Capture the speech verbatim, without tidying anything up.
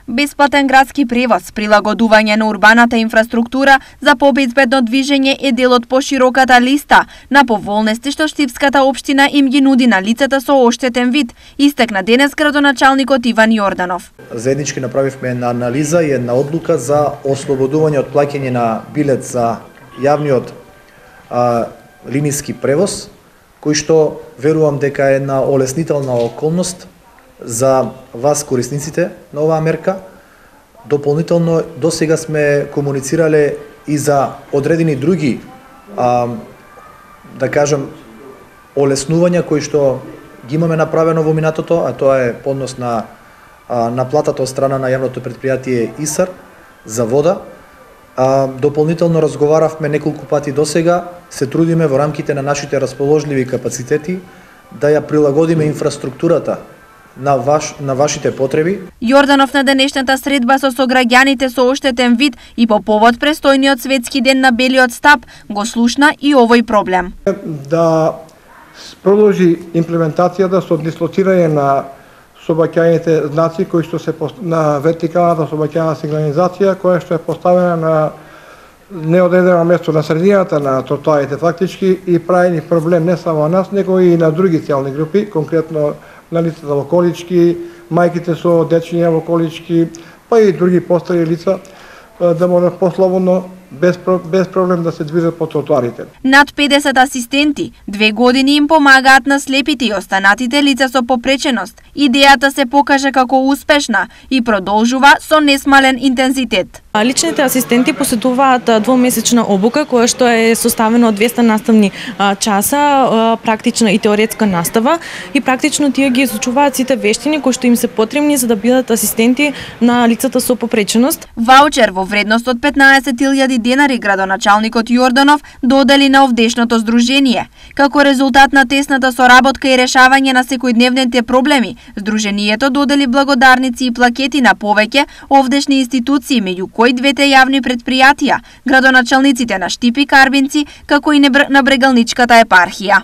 Бесплатен градски превоз, прилагодување на урбаната инфраструктура за побезбедно движење е дел од пошироката листа на поволности што Штипската општина им ги нуди на лицата со оштетен вид, истакна денес градоначалникот Иван Јорданов. Заеднички направивме една анализа и една одлука за ослободување од плаќање на билет за јавниот а, линиски превоз, кој што верувам дека е една олеснителна околност за вас корисниците на оваа мерка. Дополнително до сега сме комуницирале и за одредени други а, да кажам олеснувања кои што ги имаме направено во минатото, а тоа е поднос на а, наплатата од страна на јавното предпријатие ИСАР за вода. А, дополнително разговаравме неколку пати до сега, се трудиме во рамките на нашите расположливи капацитети да ја прилагодиме инфраструктурата на ваш на вашите потреби. Јорданов на денешната средба со сограѓаните со оштетен вид и по повод престојниот светски ден на белиот стап го слушна и овој проблем. Да продолжи имплементацијата со дислоцирање на сообраќајните знаци кои што се на вертикалната сообраќајна сигнализација која што е поставена на неодредено место на средината на тротоарите фактички и прави проблем не само на нас, него и на други целни групи, конкретно на лицата во колички, мајките со дечиња во колички, па и други постари лица да можат послободно без без проблем да се движат по тротоарите. Над педесет асистенти две години им помагаат на слепите и останатите лица со попреченост. Идејата се покажа како успешна и продолжува со несмален интензитет. Личните асистенти поседуваат двомесечна обука која што е составена од двеста наставни часа, практична и теоретска настава и практично тие ги изучуваат сите вештини кои што им се потребни за да бидат асистенти на лицата со попреченост. Ваучер во вредност од петнаесет илјади денари градоначалникот Јорданов додели на овдешното здружение. Како резултат на тесната соработка и решавање на секојдневните проблеми, здруженијето додели благодарници и плакети на повеќе овдешни институции, меѓу кои двете јавни предпријатија, градоначалниците на Штип и Карбинци, како и на Брегалничката епархија.